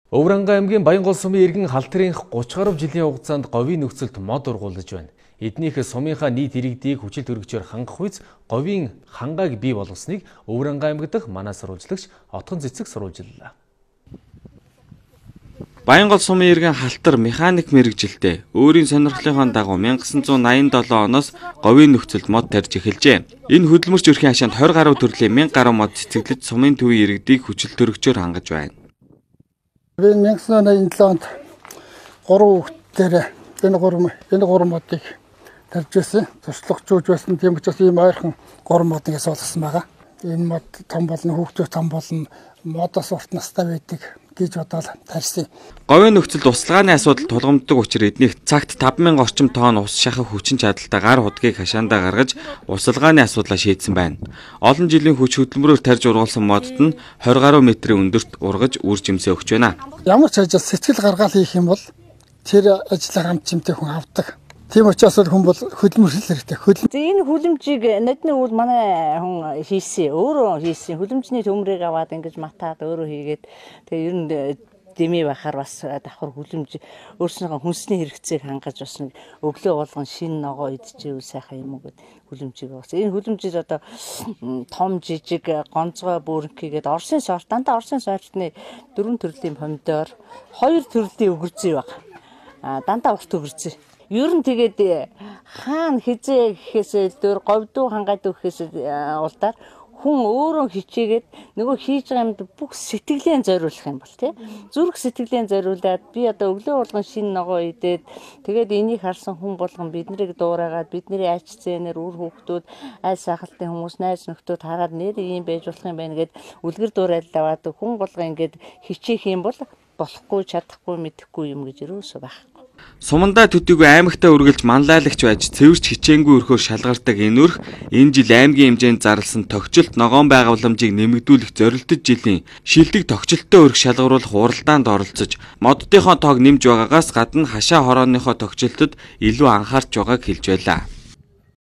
Өврангай аймгийн Баянгол сумын иргэн халтрынх 30 гаруй жилийн хугацаанд говийн нөхцөлд мод ургуулж байна. Эднийх сумынхаа нийт иргэдийг хүчил төрөгчөөр хангах үйс говийн хангааг бий болгосныг Өврангай аймаг дахь манай сурвалжлагч Отгон Цэцэг сурвалжлаа. Баянгол сумын иргэн халтар механик мэргэжилтэд өөрийн сонирхлынхон дагуу 1987 оноос говийн нөхцөлд мод тарьж эхэлжээ. Энэ хөдөлмөрч өрхийн хашаанд 20 гаруй төрлийн 1000 гаруй мод цэцэглэж сумын төвийн иргэдийг хүчил төрөгчөөр хангаж байна. 1987 онд 3 хүүхдээр энэ 3 модыг тарьж байсан. Туршлагачууж байсан. Тийм учраас ийм ойрхон 3 мод ингэ суулгасан байгаа. Энэ мод том болно, хүүхдүүд том болно, модоос урт настай байдаг гэж бодоод тарьсан. Говийн нөхцөлд услгааны асуудал тулгамддаг учраас эднийх цагт 5000 орчим тонн ус шахах хүчин чадалтай гар худгийг хашаандаа гаргаж услгааны асуудлаа шийдсэн байна. Олон жилийн хүч хөдөлмөрөөр тарьж ургуулсан модод нь 20 гаруй метрийн өндөрт ургаж үр жимсээ өгч байна. Ямар ч ажил сэтгэл гаргаал хийх юм бол тэр ажлаа хамт чимтэй хүн авдаг. Тийм учраас хүн бол хөдөлмөрлөл хэрэгтэй. Энэ хүлэмжийг надны үл манай хүн хийсэн. Өөрөө хийсэн. Хүлэмжний төмрийг аваад ингэж матаад өөрөө хийгээд тэгээ ер нь дэмий байхаар бас давхар хүлэмж өөрснийхөө хүнсний хэрэгцээг хангаж бас нэг өглөө болгон шин ногоо идчихвэл сайхан юм уу гэд хүлэмжийг авсан. Энэ хүлэмжид одоо том жижиг гонцгой бүрэнхийгээд Оросын сорт дандаа Оросын сортны 4 төрлийн помидор, 2 төрлийн өгөрзий баг. Дандаа урт өгөрзий. Ер нь тэгээд хаана хизээ гэхээс дөр говьдуу хангаад өгөхээс улдаар хүн өөрөө хичээгээд нөгөө хийж байгаа юмд бүх сэтгэлээ зориулах юм бол тий зүрх сэтгэлээ зориулаад би одоо өглөө болгон шин ногоо идээд тэгээд энийг харсан хүн болгон биднийг дуурайгаад бидний ач зээнээр үр хүүхдүүд аль сахалтын хүмүүс найз нөхдүүд хараад нэр ийм байж болох юм байна гэд үлгэр дуурайлаад хүн болгон ингээд хичээх юм бол болохгүй чадахгүй мэдэхгүй юм гэж юусоо байхгүй. Сумандаа төдийгүй аймагтаа үргэлж манлайлагч байж цэвэрч хичээнгүй өрхөөр шалгардаг энэ өрх энэ жил аймгийн хэмжээнд зарласан тогтчлт ногоон байгууламжийг нэмэгдүүлэх зорилттой жилийн шилдэг тогтчлттой өрх шалгаруулах уралдаанд оролцож моддынхоо тоог нэмж байгаагаас гадна хашаа хорооныхоо тогтчлтод илүү анхаарч байгааг хэлж байлаа.